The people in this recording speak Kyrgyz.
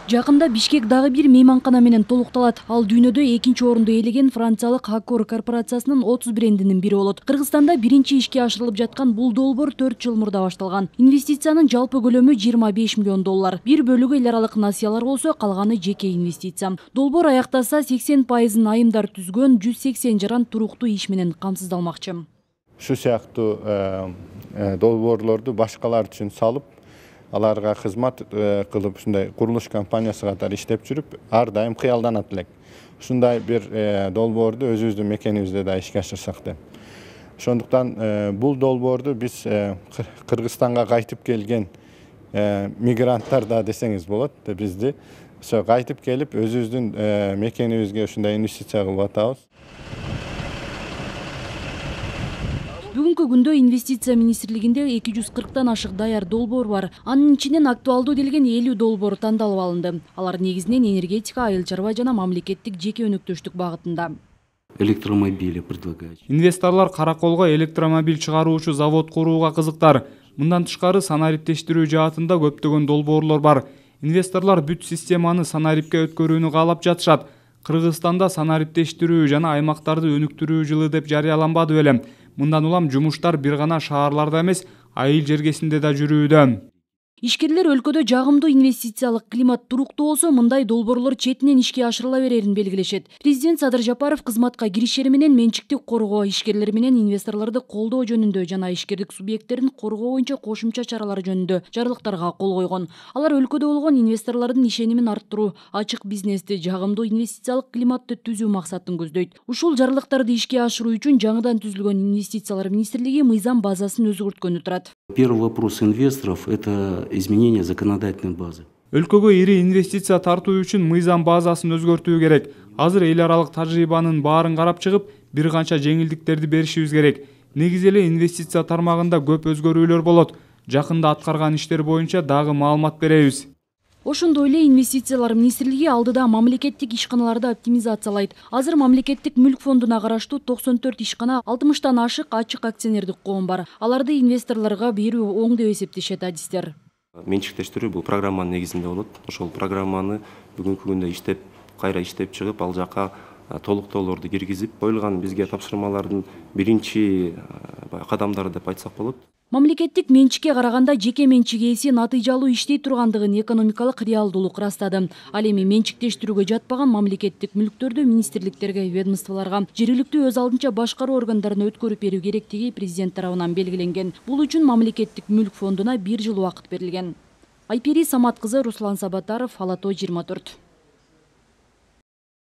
Жакында Бишкек дагы бир мейманкана менен толукталат. Ал дүйнөдө экинчи орунду ээлеген франциялык Accor корпорациясынын 30 брендинин бири болот. Кыргызстанда биринчи ишке ашырылып жаткан бул долбоор 4 жыл мурда башталган. Инвестициянын жалпы көлөмү 25 миллион доллар. Бир бөлүгү эл аралык насыялар болсо, калганы жеке инвестиция. Долбоор аяктаса 80% айымдар түзгөн 180 жаран туруктуу иш менен камсыздалмакчы. Шу сыяктуу долбоорлорду башкалар үчүн салып, аларга кызмат кылып, ушундай курулуш компаниясы катары иштеп жүрүп, ар дайым кыялданат элек. Ушундай бир долбоорду өзүбүздүн мекенибизде да ишке ашырсак деп. Ошондуктан бул долбоорду биз Кыргызстанга кайтып келген мигранттар да десеңиз болот, бизди ошо кайтып келип өзүбүздүн мекенибизге ушундай инвестиция кылып атабыз. Бүгүнкү күндө инвестиция министрлигинде 240тан ашык даяр долбоор бар. Анын ичинен актуалдуу делген 50 долбоор тандалып алынды. Алар негизинен энергетика, айыл чарба жана мамлекеттик жеке өнөктөштүк багытында. Электромобили предлагать. Инвесторлор караколго электромобиль чыгаруучу завод курууга кызыктар. Мындан тышкары санариптештирүү жаатында көптөгөн долбоорлор бар. Инвесторлор бүт системаны санарипке өткөрүүнү каалап жатышат. Кыргызстанда санариптештирүү жана аймактарды өнүктүрүү жылы деп жарыяланбады белем. Мындан улам жумуштар бир гана шаарларда эмес, айыл жергесинде да жүрүүдө. Ишкерлер өлкөдө жагымдуу инвестициялык климат туруктуу болсо, мындай долбоорлор четинен ишке ашырыла берерин белгилешет. Президент Садыр Жапаров кызматка киришери менен менчиктик коргоо, ишкерлер менен инвесторлорду колдоо жөнүндө жана ишкердик субъекттерин коргоо боюнча кошумча чаралар жөнүндө жарлыктарга кол койгон. Алар өлкөдө болгон инвесторлордун ишенимин арттыруу, ачык бизнести, жагымдуу инвестициялык климатты түзүү максатын көздөйт. Ушул жарлыктарды ишке ашыруу үчүн жаңыдан түзүлгөн инвестициялар министрлиги мыйзам базасын өзгөрткөнү турат. Первый вопрос инвесторов – это изменение законодательной базы. Өлкөгө ири инвестиция тартуу үчүн мыйзам базасын өзгөртүү керек. Азыр эл аралык тажрыйбанын баарын карап чыгып, бир канча жеңилдиктерди беришибиз керек. Негизи эле инвестиция тармагында көп өзгөрүүлөр болот. Жакында аткарган иштер боюнча дагы маалымат беребиз. Ошондой эле инвестициялар министрлиги алдыда мамлекеттик ишканаларды оптимизациялайт. Азыр мамлекеттик мүлк фондуна караштуу 94 ишкана, 60тан ашык ачык акционердик коом бар. Аларды инвесторлорго берүү оң деп эсептешет адистер. Менчиктештирүү бул программанын негизинде болот. Ошол программаны бүгүнкү күндө кайра иштеп чыгып, ал жака толуктоолорду киргизип, коюлган бизге тапшырмалардын биринчи кадамдары деп айтсак болот. Мамлекеттик менчикке караганда жеке менчик ээси натыйжалуу иштей тургандыгын экономикалык реалдуулук ырастады. Ал эми менчиктештирүүгө жатпаган мамлекеттик мүлктөрдү министрликтерге, ведомстволорго, жергиликтүү өз алдынча башкаруу органдарына өткөрүп берүү керектиги президент тарабынан белгиленген. Бул үчүн мамлекеттик мүлк фондуна 1 жыл убакыт берилген. Айпери Самат кызы, Руслан Сабатаров, Ала Тоо 24.